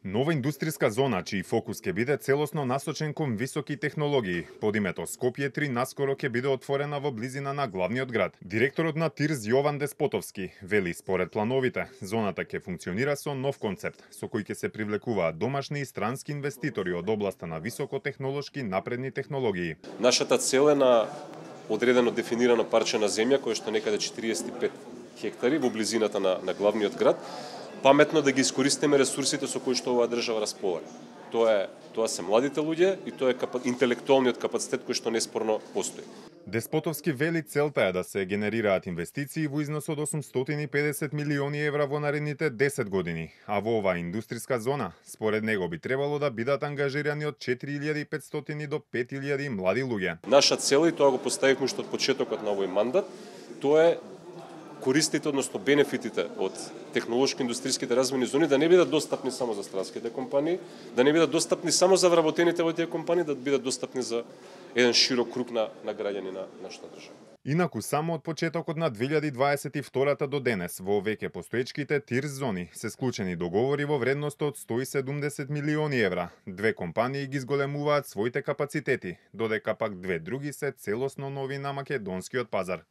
Нова индустријска зона, чиј фокус ќе биде целосно насочен кон високи технологии, под името Скопје 3 наскоро ќе биде отворена во близина на главниот град. Директорот на ТИРЗ Јован Деспотовски вели според плановите, зоната ќе функционира со нов концепт, со кој ќе се привлекуваат домашни и странски инвеститори од областа на високотехнолошки напредни технологии. Нашата цел е на одредено дефинирано парче на земја, кое што некаде 45 хектари во близината на главниот град, паметно да ги искористиме ресурсите со кои што оваа држава располага. Тоа се младите луѓе и тоа е интелектуалниот капацитет кој што неспорно постои. Деспотовски вели целта е да се генерираат инвестиции во износ од 850 милиони евра во наредните 10 години, а во оваа индустријска зона, според него би требало да бидат ангажирани од 4500 до 5000 млади луѓе. Наша цел, и тоа го поставивме уште од почетокот на овој мандат, тоа е користите, односно бенефитите од технолошко-индустријските развојни зони да не бидат достапни само за странските компании, да не бидат достапни само за вработените во тие компании, да бидат достапни за еден широк круг на граѓани на нашата држава. Инаку само од почетокот на 2022 до денес во веќе постоечките ТИРЗ зони се склучени договори во вредност од 170 милиони евра. Две компании ги зголемуваат своите капацитети, додека пак две други се целосно нови на македонскиот пазар.